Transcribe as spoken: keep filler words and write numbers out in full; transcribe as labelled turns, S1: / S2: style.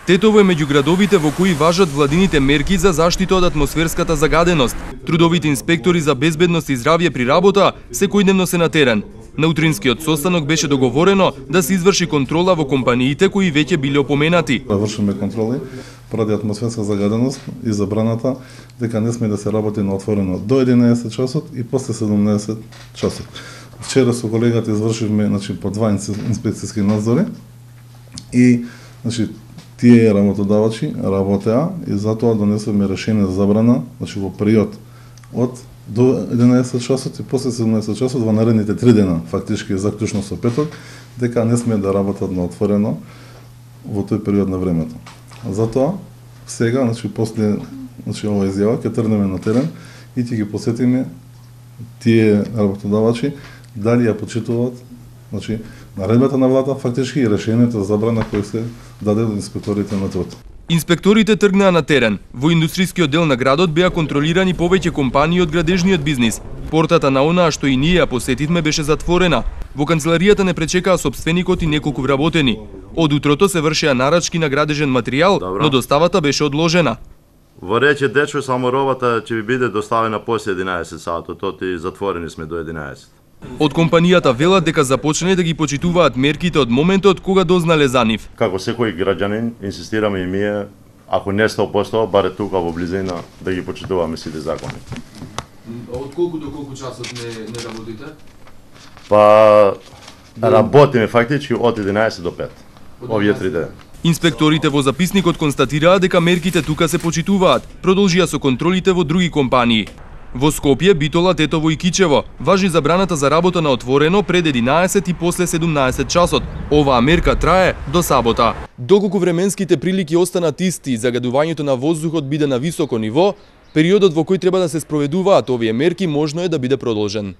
S1: Тетово е меѓу градовите во кои важат владините мерки за заштита од атмосферската загаденост. Трудовите инспектори за безбедност и здравје при работа секојдневно се на терен. На утринскиот состанок беше договорено да се изврши контрола во компаниите кои веќе биле опоменати.
S2: Вршиме контроли поради атмосферска загаденост и забраната дека не сме да се работи на отворено до единаесет часот и после седумнаесет часот. Вчера со колегата извршивме, значи, по два инспекцијски надзори и, значи, тие работодавачи работеа и затоа донесовме решение за забрана, значи, во период од до единаесет часот и после седумнаесет часот во наредните три дена, фактички заклучно со петок, дека не сме да работат на отворено во тој период на времето. Затоа сега, значи, после, значи, ова изјава ќе тргнеме на терен и ќе ги посетиме тие работодавачи дали ја почитуваат, значи, наредбата на владата, фактички и решението за забрана кој се даде од инспекторите на труд.
S1: Инспекторите тргнаа на терен. Во индустријскиот дел на градот беа контролирани повеќе компании од градежниот бизнис. Портата на онаа што и ние ја посетивме беше затворена. Во канцеларијата не пречекаа сопственикот и неколку вработени. Од утрото се вршеа нарачки на градежен материјал, Добро. но доставата беше одложена.
S3: Во рече дечко само робата ќе ви биде доставена после единаесет саатот, тот и затворени сме до единаесет.
S1: Од компанијата велат дека започнале да ги почитуваат мерките од моментот кога дознале за нив.
S3: Како секој граѓанин, инсистираме и ние, ако не сто посто, баре тука во близина, да ги почитуваме сите закони.
S1: Од колку до колку часот не, не работите?
S3: Па, работиме фактички од единаесет до пет, овие три дена.
S1: Инспекторите во записникот констатираа дека мерките тука се почитуваат, продолжија со контролите во други компании. Во Скопје, Битола, Тетово и Кичево важи забраната за работа на отворено пред единаесет и после седумнаесет часот. Оваа мерка трае до сабота. Доколку временските прилики останат исти и загадувањето на воздухот биде на високо ниво, периодот во кој треба да се спроведуваат овие мерки можно е да биде продолжен.